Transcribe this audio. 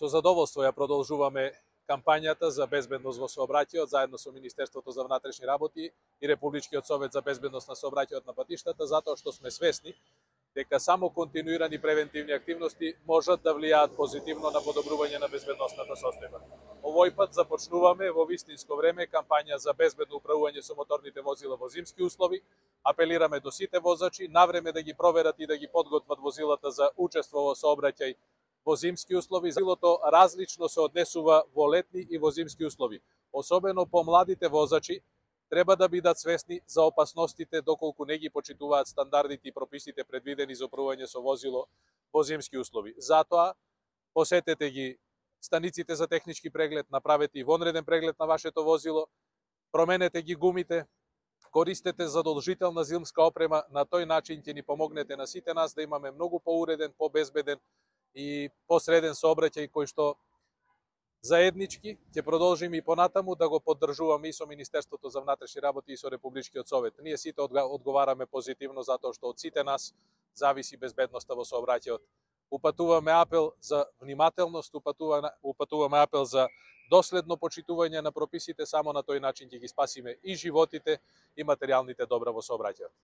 Со задоволство ја продолжуваме кампањата за безбедност во сообраќајот заедно со Министерството за внатрешни работи и Републичкиот совет за безбедност на сообраќајот на патиштата, затоа што сме свесни дека само континуирани превентивни активности можат да влијаат позитивно на подобрување на безбедносната состојба. Овој пат започнуваме во вистинско време кампања за безбедно управување со моторните возила во зимски услови. Апелираме до сите возачи навреме да ги проверат и да ги подготват возилата за учество во сообраќај во зимски услови. Возилото различно се однесува во летни и во зимски услови. Особено помладите возачи треба да бидат свесни за опасностите доколку не ги почитуваат стандардите и прописите предвидени за управување со возило во зимски услови. Затоа посетете ги станиците за технички преглед, направете и вонреден преглед на вашето возило, променете ги гумите, користете задолжителна зимска опрема, на тој начин ќе ни помогнете на сите нас да имаме многу поуреден, побезбеден и посреден сообраќај кој што заеднички ќе продолжиме и понатаму да го поддржуваме и со Министерството за внатрешни работи и со Републичкиот совет. Ние сите одговараме позитивно затоа што од сите нас зависи безбедноста во сообраќајот. Упатуваме апел за внимателност, упатуваме апел за доследно почитување на прописите, само на тој начин ќе ги спасиме и животите и материјалните добра во сообраќајот.